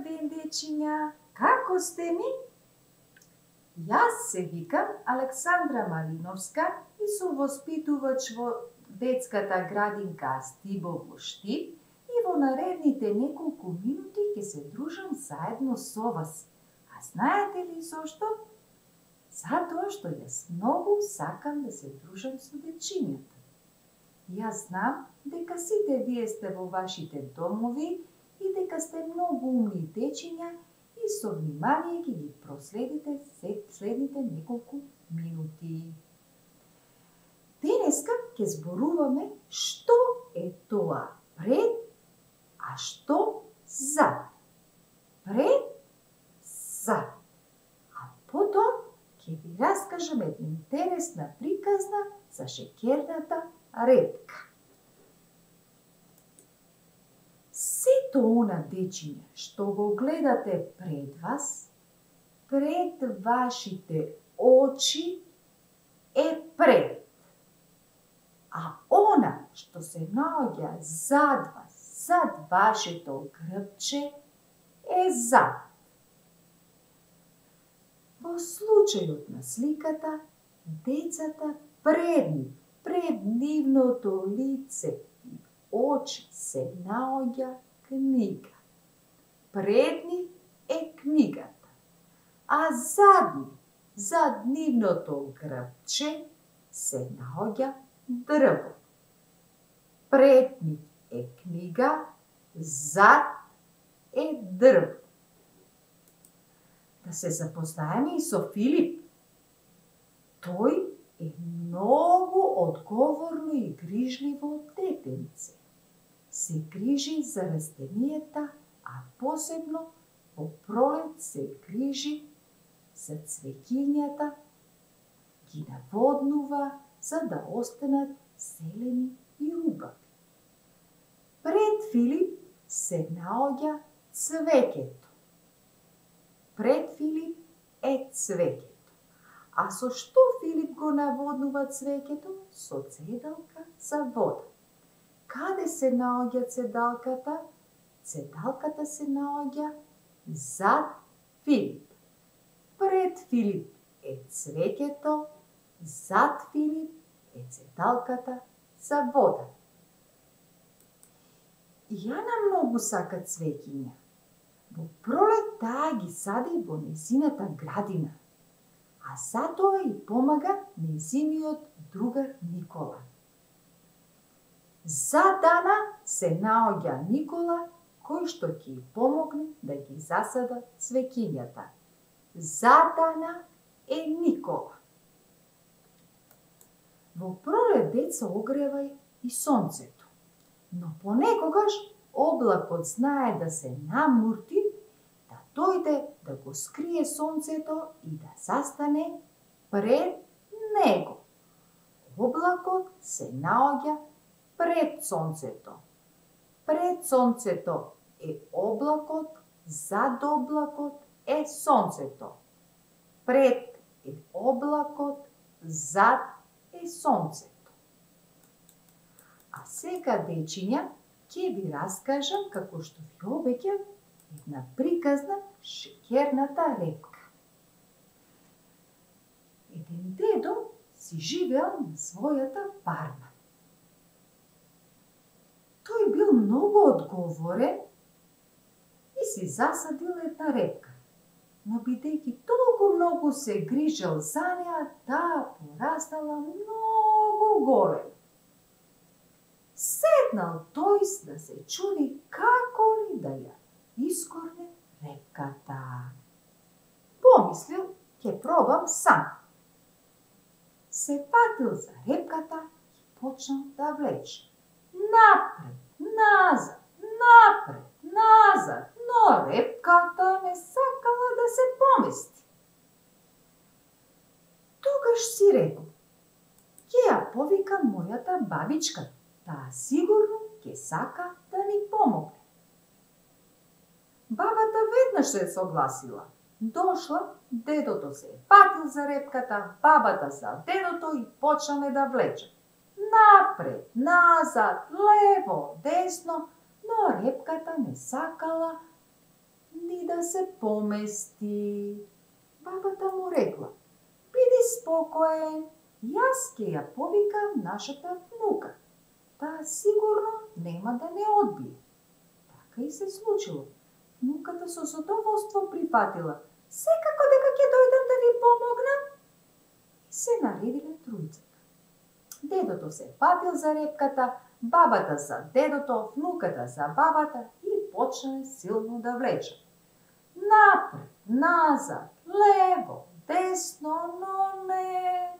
Добар ден, дечиња! Како сте ми? Јас се викам Александра Малиновска и сум воспитувач во детската градинка Стибово Штип и во наредните неколку минути ќе се дружам заедно со вас. А знаете ли зошто? Затоа што јас многу сакам да се дружам со дечињата. Јас знам дека сите вие сте во вашите домови и дека сте многу умни дечиња и со внимание ќе ги проследите следните неколку минути. Денеска ќе зборуваме што е тоа пред, а што зад. Пред, зад. А потоа ќе ви раскажам една интересна приказна за шеќерната репка. Сето она дечиња што го гледате пред вас, пред вашите очи е пред. А она што се наоѓа зад вас, зад вашето грбче, е зад. Во случајот на сликата, децата пред нивното лице и очи се наоѓа книга. Пред нив е книгата, а зад нивното грбче се наоѓа дрво. Пред нив е книга, зад е дрво. Да се запознаеме и со Филип. Тој е многу одговорно и грижливо детенце. Се грижи за растенијата, а посебно во пролет се грижи за цвеќињата, ги наводнува за да останат зелени и убави. Пред Филип се наоѓа цвеќето. Пред Филип е цвеќето. А со што Филип го наводнува цвеќето? Со цедалка за вода. Каде се наоѓа цедалката? Цедалката се наоѓа зад Филип. Пред Филип е цвеќето, зад Филип е цедалката за вода. Јана многу сака цвеќиња. Во пролет таа ги сади во нејзината градина, а затоа и помага нејзиниот другар Никола. Зад Ана се наоѓа Никола, кој што ќе ја помогне да ги засада цвеќињата. Зад Ана е Никола. Во пролет деца огрева и сонцето, но понекогаш облакот знае да се намурти, да дојде да го скрие сонцето и да застане пред него. Облакот се наоѓа пред сонцето. Пред сонцето е облакот, зад облакот е сонцето. Пред е облакот, зад е сонцето. А сега, дечиња, ќе ви раскажам, како што ви обеќав, една приказна шеќерната репка. Еден дедо си живеел на својата фарма. Тој бил многу одговорен и си засадил една репка. Но бидејќи толку многу се грижел за неа, таа пораснала многу голема. Седнал тој да се чуди како ли да ја искорне репката. Помислил, ќе пробам сам. Се фатил за репката и почнал да влече. Напред, назад, но репката не сакала да се помести. Тогаш си рекол, ќе ја повикам мојата бабичка, таа сигурно ќе сака да ни помогне. Бабата веднаш се согласила. Дошла, дедото се фатил за репката, бабата за дедото и почнале да влечат. Напред, назад, лево, десно, но репката не сакала ни се помести. Бабата му рекла: биди спокоен, јас ќе ја повикам нашата внука. Таа сигурно нема да не одбие. Така и се случило. Внуката со задоволство прифатила: секако дека ќе дојдам да ви помогнам. И се наредиле тројцата. Дедото се фатил за репката, бабата за дедото, внуката за бабата и почнале силно да влечат. Напред, назад, лево, десно, но не.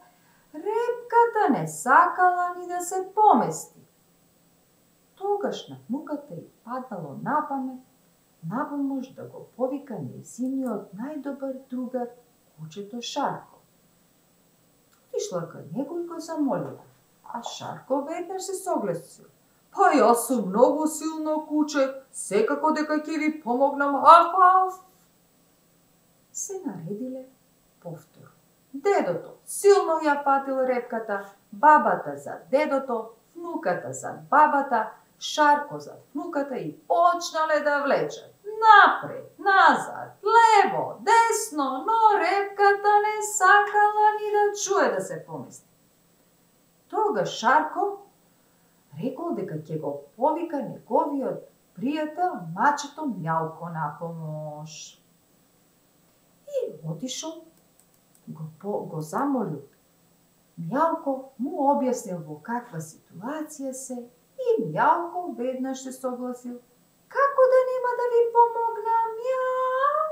Репката не сакала ни да се помести. Тогаш на внуката ѝ паднало на помош да го повика нејзиниот најдобар другар, кучето Шарко. Отишла кај него и го замолила, а Шарко веднаш се согласил: па јас сум многу силно куче, секако дека ќе ви помогнам, аф. Се наредиле повтор. Дедото силно ја фатил репката, бабата за дедото, внуката за бабата, Шарко за внуката и почнале да влечат. Напред, назад, лево, десно, но репката не сакала ни да чуе да се помести. Тогаш Шарко рекол дека ќе го повика неговиот пријател мачето Мјалко на помош. И отишол, го замолил. Мјалко му објаснил во каква ситуација се и Мјалко веднаш се согласил. Како да нема да ви помогнам, мјау?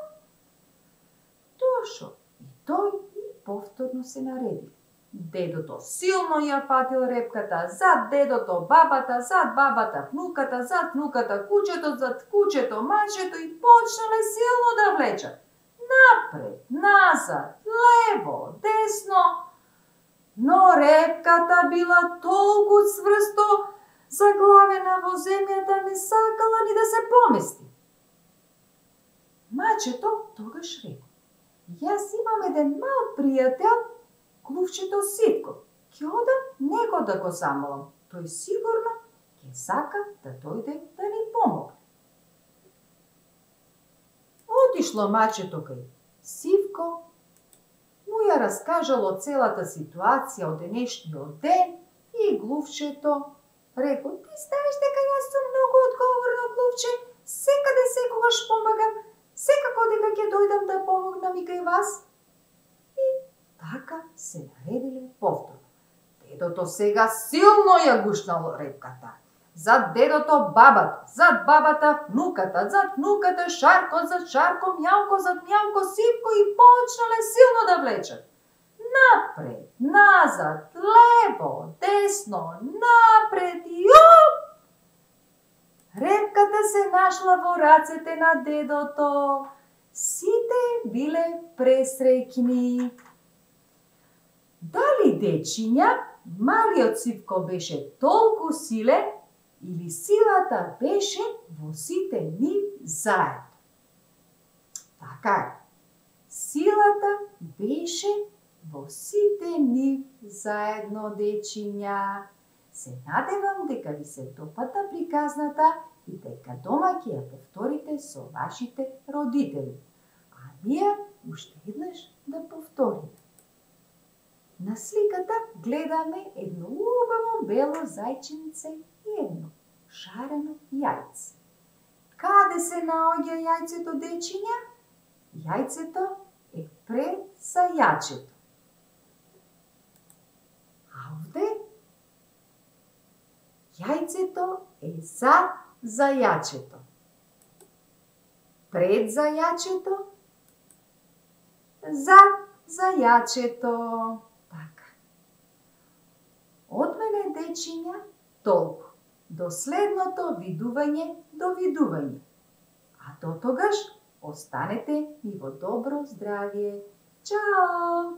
Дошол и тој и повторно се нареди. Дедото силно ја фатил репката, зад дедото бабата, зад бабата внуката, зад внуката кучето, зад кучето мачето и почнале силно да влечат. Напред, назад, лево, десно, но репката била толку цврсто заглавена во земјата, не сакала ни да се помести. Мачето тогаш рекол: јас имам еден мал пријател, клувчето Ситко. Ќе одам него да го замолам. Тој сигурно ќе сака да дојде да ни помогне. Отишло мачето кај Сивко, му ја раскажало целата ситуација од денешниот ден и глувчето рекол: ти знаеш дека јас сум многу одговорно глувче, секаде секогаш помагам, секако дека ќе дојдам да помогнам и кај вас. И така се наредиле повторно. Дедото сега силно ја гушнало репката. Зад дедото бабата, зад бабата внуката, зад внуката Шарко, зад Шарко Мјалко, зад Мјалко Сивко и почнале силно да влечат. Напред, назад, лево, десно, напред и оп! Репката се нашла во рацете на дедото. Сите биле пресреќни. Дали дечиња, малиот Сивко беше толку силен или силата беше во сите нив заедно? Така е. Силата беше во сите нив заедно, дечиња. Се надевам дека ви се допада приказната и дека дома ќе ја повторите со вашите родители. А ние уште еднаш да повториме. На сликата гледаме едно убаво бело зајченце и едно шарено јајце. Каде се наоѓа јајцето, дечиња? Јајцето е пред зајачето. А овде јајцето е зад зајачето. Пред зајачето, зад зајачето. Така. Од мене, дечиња, толку. До следното видување, довидување. А до тогаш останете и во добро здравје. Чао!